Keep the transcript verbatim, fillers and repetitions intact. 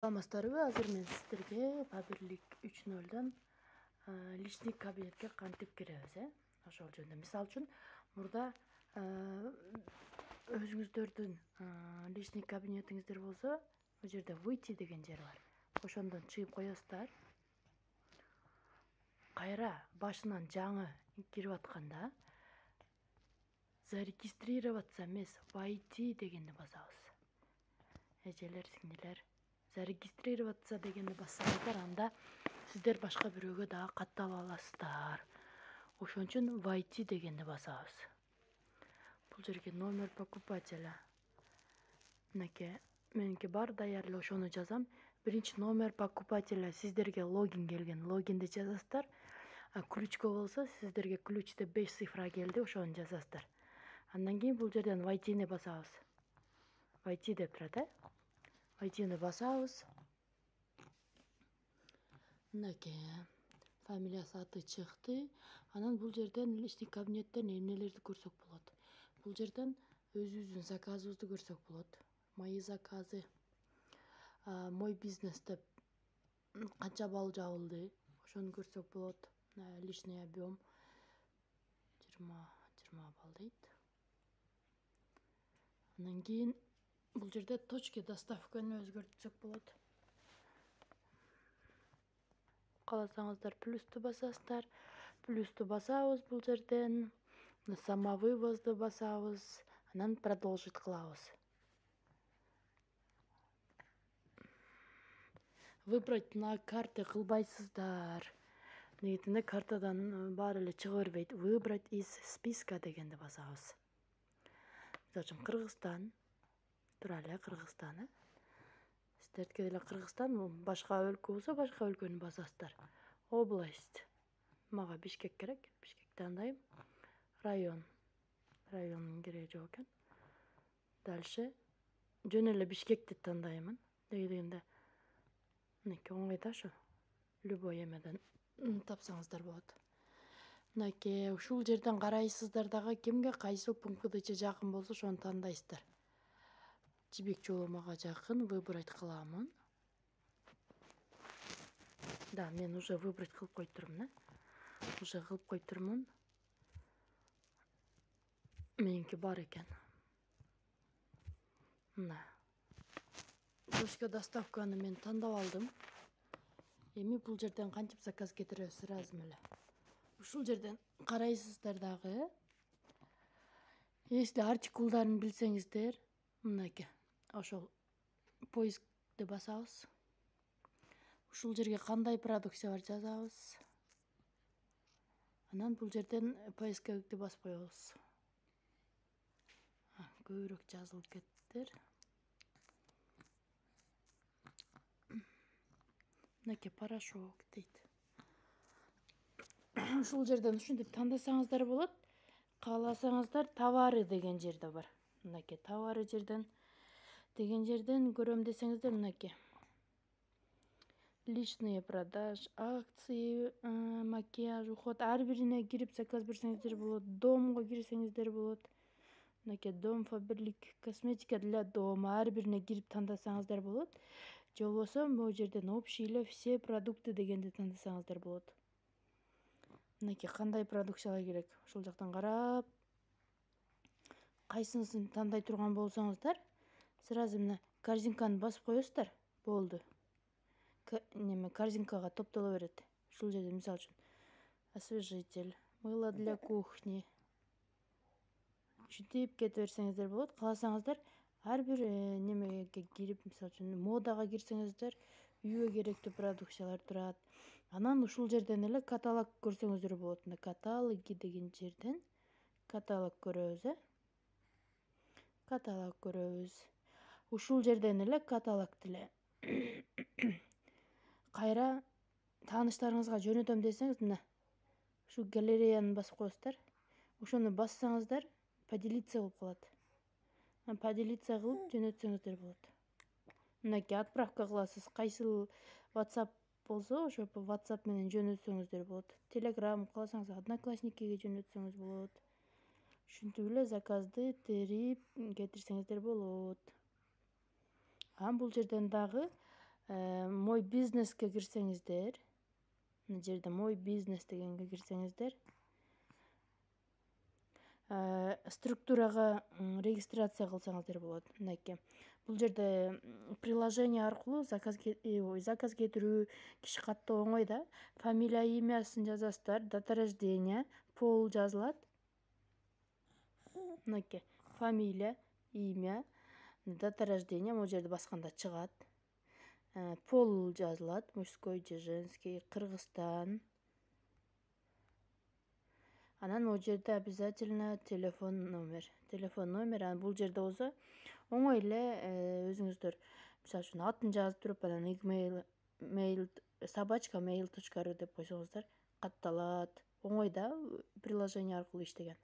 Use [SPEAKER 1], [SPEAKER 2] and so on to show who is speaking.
[SPEAKER 1] Саламатсыздарбы? Азыр мен сиздерге Фаберлик үч нолдон личный кабинетке кантип киребиз, э? Ошол жөнүндө. Мисалы үчүн, мурда өзүңүздөрдүн личный кабинетиңиздер болсо, бул жерде выйти деген жер бар. Ошондон чыгып коесуздар. Кайра башынан жаңы кирип атканда зарегистрироваться эмес, войти дегенди басабыз. Эжелер, сиңдилер, зарегистрироваться дегенди бассаңыздар, анда сиздер башка бирөөгө дагы каттала аласыздар. Ошон үчүн войти дегенди басабыз. Бул жерге номер покупателя. Мынакей меники бар даяр эле, ошону жазам. Биринчи номер покупателя сиздерге логин келген. Логинди жазасыздар. Ключко болсо сиздерге ключте беш цифра келди, ошону жазасыздар. Андан кийин бул жерден войтини басабыз. Войти деп турат, э? Войтини басабыз. Мынакей фамилиясы, аты чыкты. Анан бул жерден личный кабинеттен эмнелерди көрсөк болот. Бул жерден өзүбүздүн заказыбызды көрсөк болот. Мои заказы, мой бизнес деп канча балл жабылды, ошону көрсөк болот. Личный объем жыйырма балл дейт. Андан кийин бул жерде точки доставканы өзгөртсөк болот. Кааласаңыздар плюсту басасыздар. Плюсту басабыз бул жерден. Самовывозду басабыз. Анан продолжить кылабыз. Выбрать на карте кылбайсыздар. Негетинде картадан баары эле чыга бербейт. Выбрать из списка дегенди басабыз. Мисалы үчүн Кыргызстан. Тура эле Кыргызстан, э? Сиздердики деле Кыргызстан, башка өлкө болсо башка өлкөнү басасыздар. Область. Мага Бишкек керек. Бишкекти тандайм. Район. Райондун кереги жок экен. Дальше жөн эле Бишкекти тандаймын. Деги дегенде мынакей оңой ушу. Любой эмеден тапсаңыздар болот. Мынакей ушул жерден карайсыздар дагы кимге кайсыл пунктче жакын болсо ошону тандайсыздар. Жибек жолу мага жакын, выбрать кыламын. Да, мен уже выбрать кылып койтурмун, э? Уже кылып койтурмун. Меники бар экен. Мына. Точка доставканы мен тандап алдым. Эми бул жерден кантип заказ кетиребиз сразу эле. Ушул жерден карайсыздар дагы. Если артикулдарын билсеңиздер, мынакей ошол поискти басабыз. Ушул жерге кандай продукция бар жазабыз. Анан бул жерден поисковикти басып коебуз. Көбүрөөк жазылып кеттир. Мынакей порошок дейт. Ушул жерден ушинтип тандасаңыздар болот. Кааласаңыздар товары деген жерде бар. Мынакей товары жерден деген жерден көрөм десеңиздер, мынакей. Личные продаж, акции, макияж, уход. Ар бирине кирип заказ берсеңиздер болот. Домго кирсеңиздер болот. Мынакей дом, Фаберлик, косметика для дома. Ар бирине кирип тандасаңыздар болот. Же болбосо могу жерден общий эле все продукты дегенди тандасаңыздар болот. Мынакей кандай продукциялар керек. Ушул жактан карап, кайсынысын тандай турган болсоңуздар, сразу мына корзинканы басып коесуздар. Болду. Неме корзинкага топтоло берет. Ушул жерде мисалы үчүн освежитель, мыло для кухни. Ушинтип кете берсеңиздер болот. Кааласаңыздар ар бир немеге кирип, мисалы үчүн модага кирсеңиздер, үйгө керектүү продукциялар турат. Анан ушул жерден эле каталог көрсөңүздөр болот. Мына каталоги деген жерден каталог көрөбүз, э? Каталог көрөбүз. Ушул жерден эле каталогду эле кайра тааныштарыңызга жөнөтөм десеңиз, мына ушу галереяны басып коесуздар. Ошону бассаңыздар, поделиться болуп калат. Поделиться кылып жөнөтсөңүздөр болот. Мынакей отправка кыласыз. Кайсыл WhatsApp болсо, ошо WhatsApp менен жөнөтсөңүздөр болот. Telegram кааласаңыз Одноклассникиге жөнөтсөңүз болот. Ушинтип эле заказды терип кетирсеңиздер болот. Анан бул жерден дагы мой бизнеске кирсеңиздер, мына жерде мой бизнес дегенге кирсеңиздер, структурага регистрация кылсаңыздар болот. Мынакей. Бул жерде приложение аркылуу заказ заказ кетирүү, киши каттоо оңой да. Фамилия, имясын жазасыздар, дата рождения, пол жазылат. Мынакей. Фамилия, имя, дата рождения, могу жерде басканда чыгат. Пол жазылат, мужской же женский, Кыргызстан. Анан могу жерде обязательно телефон номер. Телефон номер, анан бул жерде болсо оңой эле өзүңүздөр мисалы үчүн атын жазып туруп, анан игмейл, mail собачка mail точка ру деп койсоңуздар катталат. Оңой да, приложение аркылуу иштеген.